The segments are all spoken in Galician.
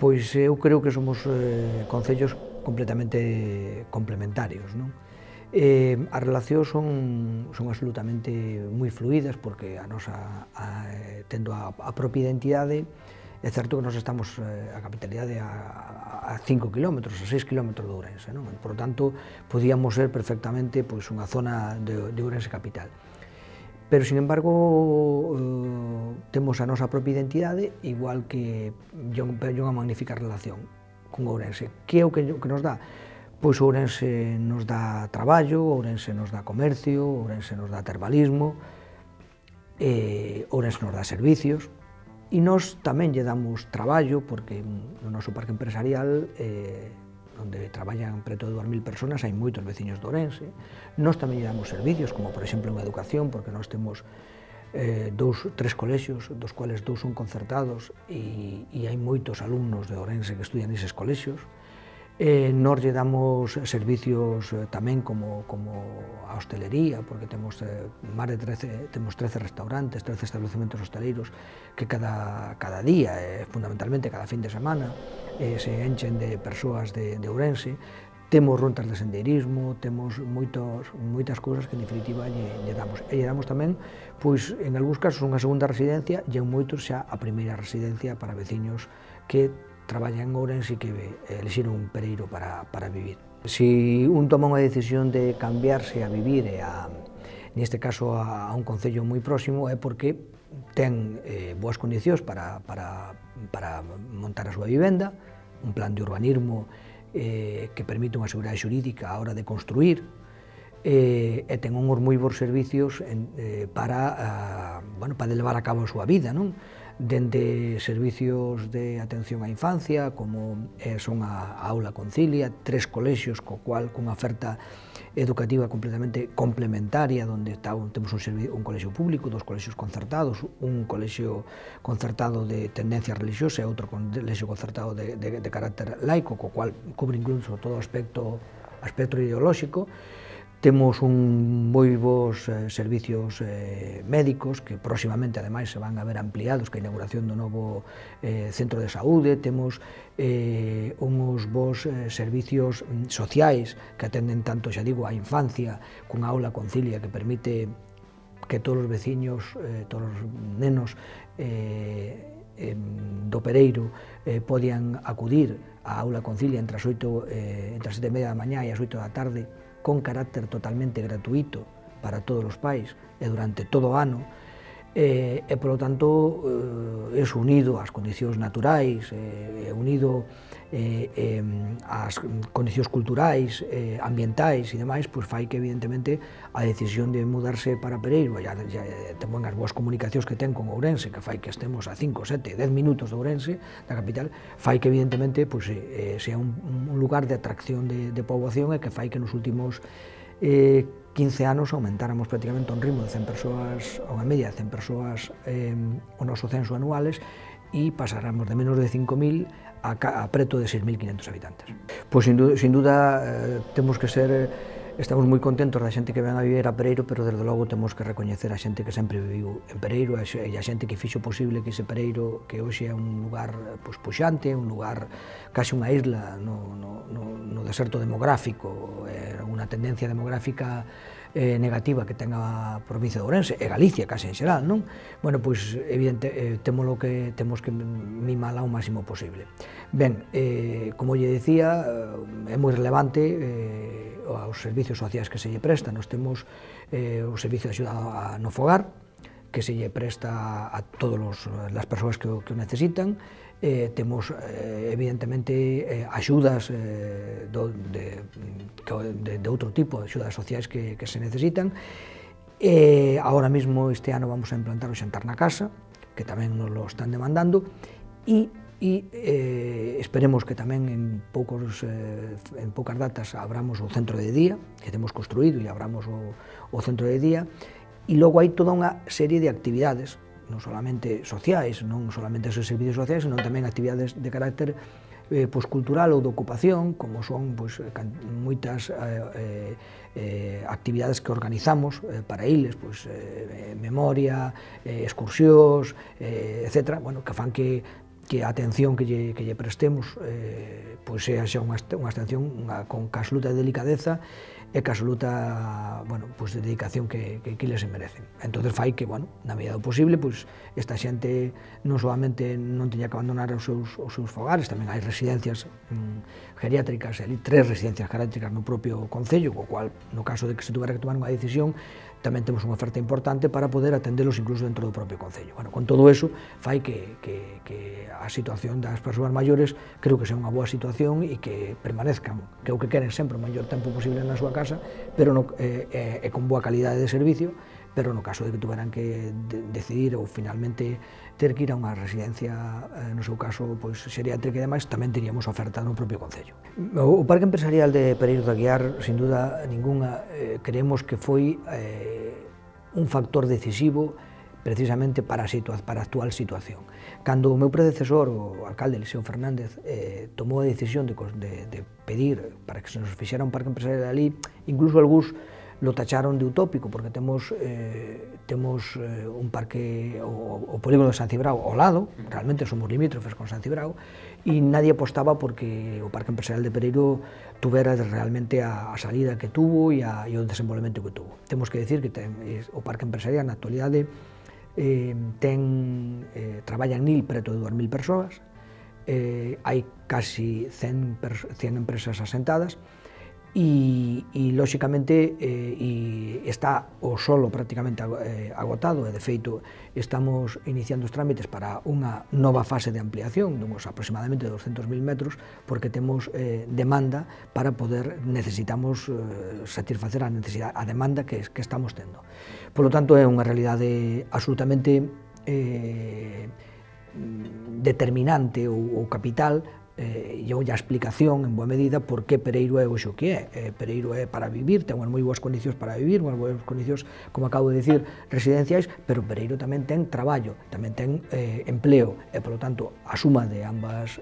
Pois eu creo que somos concellos completamente complementarios, non? As relacións son absolutamente moi fluídas porque a nosa, tendo a propia identidade, é certo que nós estamos a capitalidade a 5 km, a 6 km de Ourense, non? Por tanto, podíamos ser perfectamente pois, unha zona de Ourense capital. Pero, sin embargo, temos a nosa propia identidade, igual que unha magnífica relación con Ourense. Que é o que nos dá? Pois Ourense nos dá traballo, Ourense nos dá comercio, Ourense nos dá termalismo, Ourense nos dá servicios, e nós tamén lle damos traballo, porque no noso parque empresarial, onde traballan preto de 2000 personas, hai moitos veciños de Ourense. Nós tamén lle damos servicios, como por exemplo en educación, porque nós temos tres colexios, dos cuales 2 son concertados, e hai moitos alumnos de Ourense que estudian neses colexios. Nós lle damos servicios tamén como a hostelería, porque temos máis de 13 restaurantes, 13 establecementos hosteleiros que cada día, fundamentalmente cada fin de semana, se enchen de persoas de Ourense. Temos runtas de sendeirismo, temos moitas cousas que en definitiva lle damos. E lle damos tamén, pois, en algúns casos, unha segunda residencia e en moitos xa a primeira residencia para veciños que traballan en Ourense e que elixiron un Pereiro para vivir. Se un toma unha decisión de cambiarse a vivir, neste caso a un concello moi próximo, é porque ten boas condicións para montar a súa vivenda, un plan de urbanismo que permite unha seguridade xurídica á hora de construir, e ten uns moi bons servicios para levar a cabo a súa vida, non? Dende servicios de atención á infancia, como son a Aula Concilia, 3 colexios cunha oferta educativa completamente complementaria, onde temos un colexio público, 2 colexios concertados, un colexio concertado de tendencia religiosa e outro colexio concertado de carácter laico, co cual cubre incluso todo o aspecto ideolóxico. Temos moi bons servicios médicos que próximamente, ademais, se van a ver ampliados ca inauguración do novo centro de saúde. Temos uns bons servicios sociais que atenden tanto, xa digo, a infancia, cunha Aula Concilia que permite que todos os veciños, todos os nenos do Pereiro podían acudir á Aula Concilia entre as 7:30 da mañá e as 8 da tarde, con carácter totalmente gratuito para todos os pais e durante todo o ano, e, polo tanto, eso unido ás condicións naturais, unido ás condicións culturais, ambientais e demais, pois fai que, evidentemente, a decisión de mudarse para Pereiro, e tamén as boas comunicacións que ten con Ourense, que fai que estemos a 5, 7, 10 minutos de Ourense, da capital, fai que, evidentemente, sea un lugar de atracción de poboación, e que fai que nos últimos 15 anos aumentáramos prácticamente un ritmo de 100 persoas, unha media de 100 persoas o noso censo anuales, e pasáramos de menos de 5.000 a preto de 6.500 habitantes. Pois, sin duda, estamos moi contentos da xente que ven a vivir a Pereiro, pero, desde logo, temos que recoñecer a xente que sempre viviu en Pereiro e a xente que fixo posible que ese Pereiro, que hoxe é un lugar puxante, un lugar case unha isla no deserto demográfico, unha tendencia demográfica negativa que ten a provincia de Ourense e Galicia case en xeral, non? Bueno, pois, evidente, temos que mimala o máximo posible. Ben, como lle dicía, é moi relevante os servicios sociais que se lle prestan. Nós temos o servicio de axuda no fogar, que se lle presta a todas as persoas que o necesitan. Temos, evidentemente, axudas de outro tipo, axudas sociais que se necesitan. Agora mesmo, este ano, vamos a implantar o xantar na casa, que tamén nos lo están demandando, e esperemos que tamén en poucas datas abramos o centro de día, que temos construído, e abramos o centro de día, e logo hai toda unha serie de actividades, non solamente sociais, non solamente esos servicios sociais, senón tamén actividades de carácter cultural ou de ocupación, como son moitas actividades que organizamos para eles, memoria, excursións, etc., que fan que que a atención que lle prestemos pois sea unha atención con absoluta delicadeza e que absoluta, bueno, pois de dedicación que les se merecen. Entonces fai que, bueno, na medida do posible, pois esta xente non solamente non teña que abandonar os seus fogares, tamén hai residencias geriátricas, 3 residencias geriátricas no propio concello, co cual, no caso de que se tuvera que tomar unha decisión, tamén temos unha oferta importante para poder atendelos incluso dentro do propio concello. Bueno, con todo eso, fai que a situación das persoas maiores creo que sea unha boa situación e que permanezcan, que é o que queren sempre o maior tempo posible na súa casa, pero con boa calidade de servicio, pero no caso de que tuveran que decidir ou finalmente ter que ir a unha residencia, no seu caso, pois xeriátrica e demais, tamén teríamos oferta no propio concello. O Parque Empresarial de Pereiro de Aguiar, sin duda ninguna, creemos que foi un factor decisivo precisamente para a actual situación. Cando o meu predecesor, o alcalde Eliseo Fernández, tomou a decisión de pedir para que se nos fixera un parque empresarial ali, incluso algúns lo tacharon de utópico, porque temos un parque, o polígono de San Cibrao ao lado, realmente somos limítrofes con San Cibrao, e nadie apostaba porque o Parque Empresarial de Pereiro tuvera realmente a salida que tuvo e o desenvolvemento que tuvo. Temos que decir que o Parque Empresarial na actualidade traballa en NIL preto de 2.000 persoas, hai casi 100 empresas asentadas, e lóxicamente está o solo prácticamente agotado, e de feito estamos iniciando os trámites para unha nova fase de ampliación de uns aproximadamente 200.000 metros, porque temos demanda para poder, necesitamos satisfacer a demanda que estamos tendo. Por lo tanto, é unha realidade absolutamente determinante ou capital, e a explicación en boa medida por que Pereiro é hoxe o que é. Pereiro é para vivir, ten unhas moi boas condicións para vivir, unhas boas condicións, como acabo de dicir, residenciais, pero Pereiro tamén ten traballo, tamén ten empleo, e, polo tanto, a suma de ambas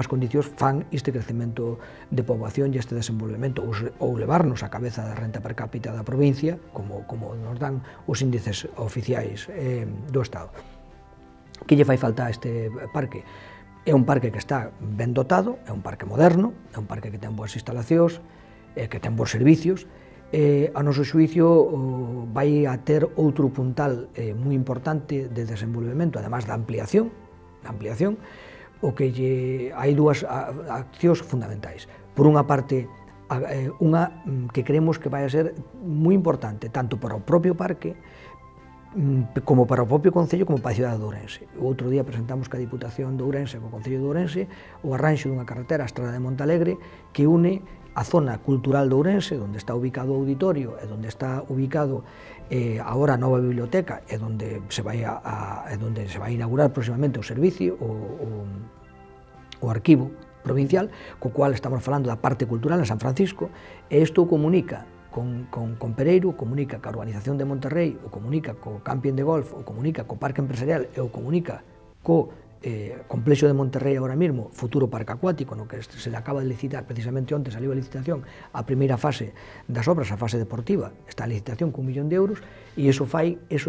condicións fan este crecemento de poboación e este desenvolvemento, ou levarnos a cabeza da renta per cápita da provincia, como nos dan os índices oficiais do Estado. Que lle fai falta a este parque? É un parque que está ben dotado, é un parque moderno, é un parque que ten boas instalacións, que ten bons servicios. A noso xuicio vai a ter outro puntal moi importante de desenvolvemento, además da ampliación, o que hai dúas accións fundamentais. Por unha parte, unha que creemos que vai a ser moi importante, tanto para o propio parque, como para o propio Concello, como para a cidade de Ourense. O outro día presentamos ca Diputación de Ourense, co Concello de Ourense, o arranxo dunha carretera, a Estrada de Montalegre, que une a zona cultural de Ourense, onde está ubicado o auditorio, e onde está ubicado agora a nova biblioteca, e onde se vai a inaugurar próximamente o servicio, o arquivo provincial, co cual estamos falando da parte cultural de San Francisco, e isto comunica con Pereiro, comunica ca urbanización de Monterrey, o comunica co camping de golf, o comunica co parque empresarial e o comunica co complexo de Monterrey agora mesmo, futuro parque acuático, no que se le acaba de licitar, precisamente onte saliu a licitación, a primeira fase das obras, a fase deportiva, está a licitación con 1 millón de euros, e iso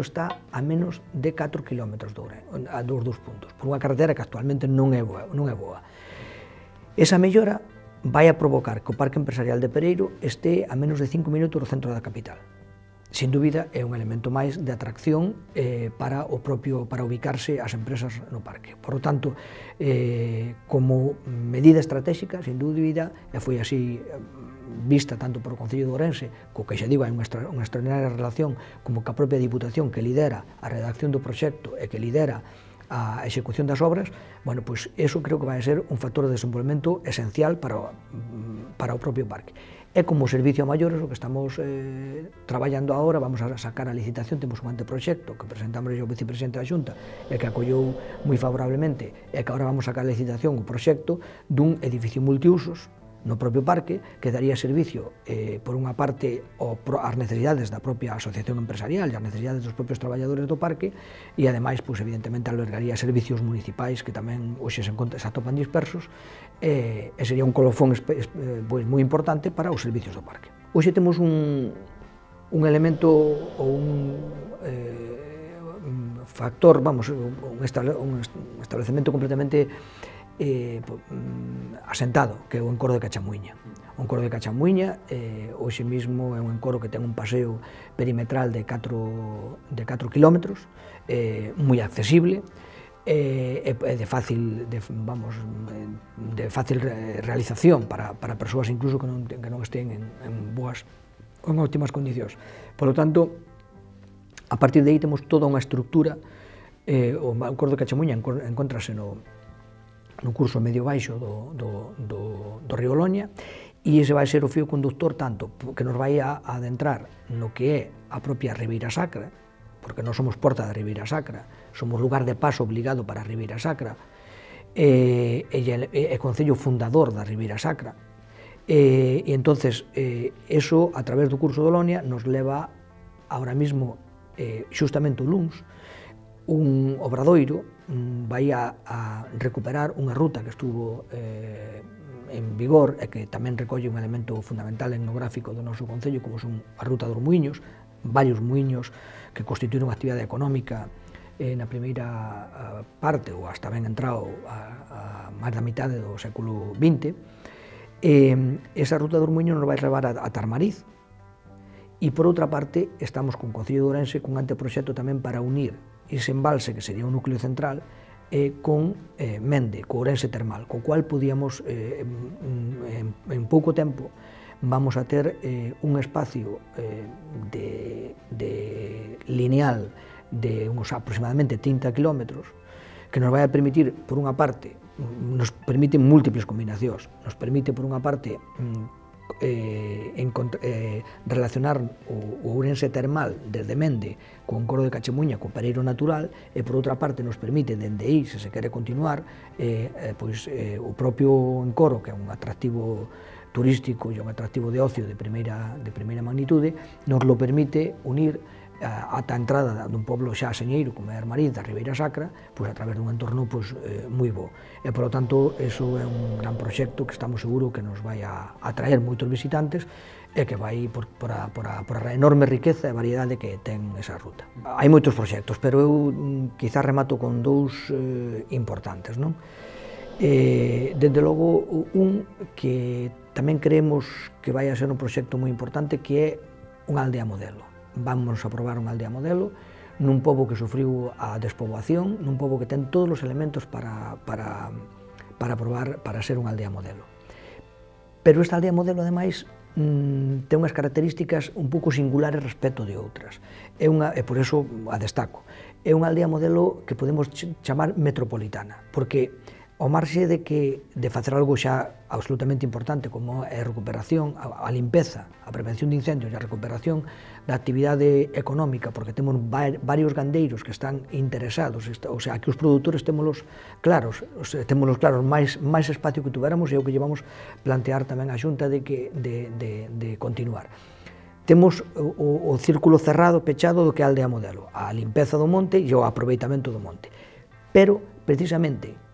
está a menos de 4 kilómetros dos dous puntos, por unha carretera que actualmente non é boa. Esa mellora vai a provocar que o Parque Empresarial de Pereiro este a menos de 5 minutos do centro da capital. Sin dúbida, é un elemento máis de atracción para ubicarse as empresas no parque. Por lo tanto, como medida estratégica, sin dúbida, e foi así vista tanto por o Concello de Ourense, co que xa digo, hai unha extraordinaria relación como ca propia Diputación que lidera a redacción do proxecto e que lidera a execución das obras, bueno, pois eso creo que vai ser un factor de desenvolvemento esencial para o propio parque. É como servicio a maiores o que estamos traballando agora, vamos a sacar a licitación, temos un anteproxecto que presentamos ao vicepresidente da Xunta e que acollou moi favorablemente, e que agora vamos a sacar a licitación o proxecto dun edificio multiusos no propio parque, que daría servicio, por unha parte, ás necesidades da propia asociación empresarial e ás necesidades dos propios traballadores do parque, e ademais, evidentemente, albergaría servicios municipais que tamén hoxe se atopan dispersos, e sería un colofón moi importante para os servicios do parque. Hoxe temos un elemento ou un factor, vamos, un establecemento completamente asentado, que é o encoro de Cachamuiña. O encoro de Cachamuiña, hoxe mesmo é un encoro que ten un paseo perimetral de 4 kilómetros, moi accesible, de fácil realización para persoas incluso que non estén en óptimas condicións. Por lo tanto, a partir de aí temos toda unha estructura. O encoro de Cachamuiña encontrase no curso medio baixo do río Loña, e ese vai ser o fío conductor tanto que nos vai a adentrar no que é a propia Ribeira Sacra, porque non somos porta da Ribeira Sacra, somos lugar de paso obligado para a Ribeira Sacra, e concello fundador da Ribeira Sacra, e entonces eso a través do curso do Loña nos leva ahora mismo xustamente o luns un obradoiro vai a recuperar unha ruta que estuvo en vigor e que tamén recolle un elemento fundamental etnográfico do noso concello, como son a ruta dos muiños, varios muiños que constituíron unha actividade económica na primeira parte, ou hasta ben entrado a máis da mitade do século XX. Esa ruta dos muiños nos vai levar a Tarmariz, e por outra parte estamos con o Concello de Ourense cun anteproxecto tamén para unir ese embalse, que sería un núcleo central, con Mende, co Ourense termal, co cual podíamos, en pouco tempo, vamos a ter un espacio lineal de uns aproximadamente 30 kilómetros, que nos vai a permitir, por unha parte, nos permite múltiples combinacións, nos permite, por unha parte, relacionar o Ourense termal desde Mende con o encoro de Cachamuiña, co Pereiro natural, e por outra parte nos permite dende aí, se se quere continuar, o propio encoro, que é un atractivo turístico e un atractivo de ocio de primeira magnitude, nos lo permite unir ata a entrada dun poblo xa señeiro como é Armariz, da Ribeira Sacra, a través dun entorno moi bo. E, por lo tanto, eso é un gran proxecto que estamos seguros que nos vai a atraer moitos visitantes e que vai por a enorme riqueza e variedade que ten esa ruta. Hai moitos proxectos, pero eu quizás remato con dous importantes, non? Dende logo, un que tamén creemos que vai a ser un proxecto moi importante, que é unha aldea modelo. Vamos a probar unha aldea modelo nun pobo que sufriu a despoboación, nun pobo que ten todos os elementos para ser unha aldea modelo. Pero esta aldea modelo, ademais, ten unhas características un pouco singulares respecto de outras, e por iso a destaco. É unha aldea modelo que podemos chamar metropolitana, porque ao marxe de facer algo xa absolutamente importante como é a recuperación, a limpeza, a prevención de incendios e a recuperación da actividade económica, porque temos varios gandeiros que están interesados, o sea, que os produtores témolos claros, máis espacio que tuveramos, e o que llevamos plantear tamén a Xunta de continuar. Temos o círculo cerrado, pechado do que é a aldea modelo, a limpeza do monte e o aproveitamento do monte. Pero, precisamente,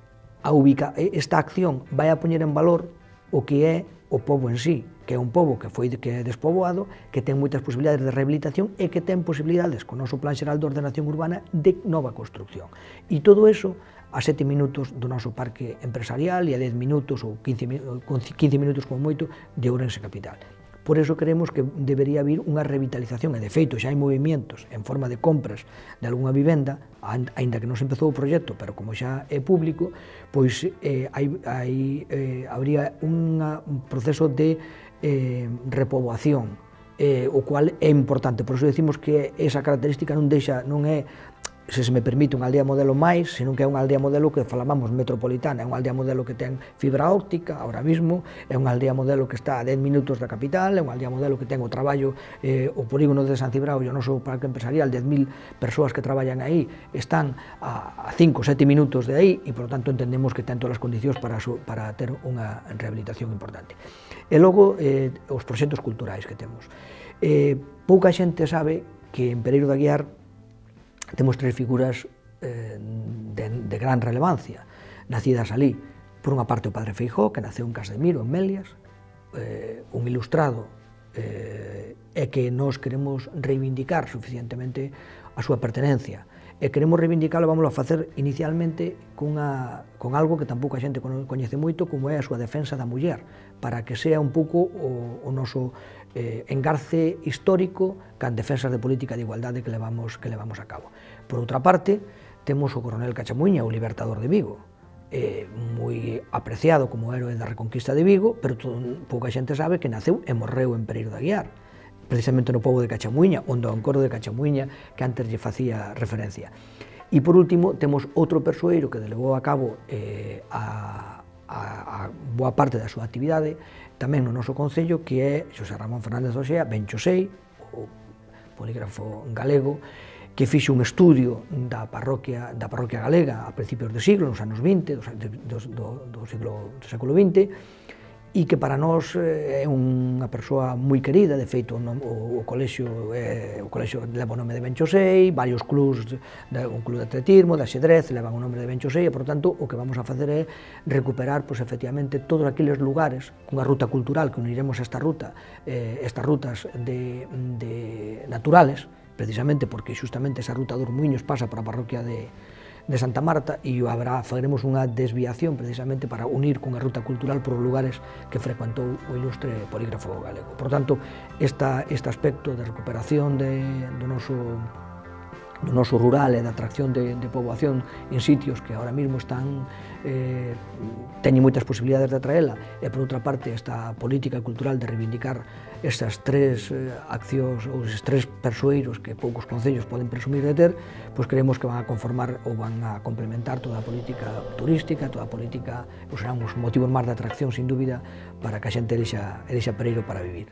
esta acción vai a poñer en valor o que é o pobo en sí, que é un pobo que é despoboado, que ten moitas posibilidades de rehabilitación e que ten posibilidades, con o noso Plan Xeral de Ordenación Urbana, de nova construcción. E todo eso a 7 minutos do noso parque empresarial e a 10 minutos ou 15 minutos como moito de Ourense capital. Por eso creemos que debería haber unha revitalización, e de feito xa hai movimientos en forma de compras de algunha vivenda, aínda que non se empezou o proxecto, pero como xa é público, pois habría un proceso de repoboación, o cual é importante. Por eso decimos que esa característica non é, se me permite, unha aldea modelo máis, senón que é unha aldea modelo que falábamos metropolitana, é unha aldea modelo que ten fibra óptica ahora mismo, é unha aldea modelo que está a 10 minutos da capital, é unha aldea modelo que ten o traballo, o polígono de San Cibrao e o noso parque empresarial, 10.000 persoas que traballan aí, están a 5 ou 7 minutos de aí, e, por lo tanto, entendemos que ten todas as condicións para ter unha rehabilitación importante. E logo, os proxectos culturais que temos. Pouca xente sabe que en Pereiro de Aguiar temos 3 figuras de gran relevancia, nacidas alí. Por unha parte, o Padre Feijóo, que naceu en Casdemiro, en Melias, un ilustrado, e que nós queremos reivindicar suficientemente a súa pertenencia. e queremos reivindicalo, vamos a facer inicialmente con algo que tampouco a xente coñece moito, como é a súa defensa da muller, para que sea un pouco o noso engarce histórico can defensas de política de igualdade que levamos a cabo. Por outra parte, temos o coronel Cachamuiña, o libertador de Vigo, moi apreciado como héroe da Reconquista de Vigo, pero pouca xente sabe que naceu e morreu en Pereiro de Aguiar, precisamente no pobo de Cachamuiña, onde o encordo de Cachamuiña que antes lle facía referencia. E por último, temos outro persoeiro que levou a cabo a boa parte da súa actividade tamén no noso concello, que é Xosé Ramón Fernández Oxea, ben Xosei, o polígrafo galego, que fixe un estudio da parroquia galega a principios do siglo, nos anos 20, do século XX, e que para nós é unha persoa moi querida. De feito, o colexio leva o nome de Ben Xosei, varios clubs, un club de atletismo, de axedrez, levan o nome de Ben Xosei, e, por tanto, o que vamos a facer é recuperar, efectivamente, todos aqueles lugares, cunha ruta cultural, que uniremos estas rutas naturales, precisamente porque xustamente esa ruta dos Muiños pasa por a parroquia de Santa Marta, e faremos unha desviación precisamente para unir cunha ruta cultural por os lugares que frecuentou o ilustre polígrafo galego. Por tanto, este aspecto de recuperación do noso rural e da atracción de poboación en sitios que ahora mesmo teñen moitas posibilidades de atraela, e por outra parte esta política cultural de reivindicar estas tres accións ou estes tres persoeiros que poucos concellos poden presumir de ter, pois creemos que van a conformar ou van a complementar toda a política turística, toda a política, serán uns motivos máis de atracción, sin dúbida, para que a xente elixa Pereiro para vivir.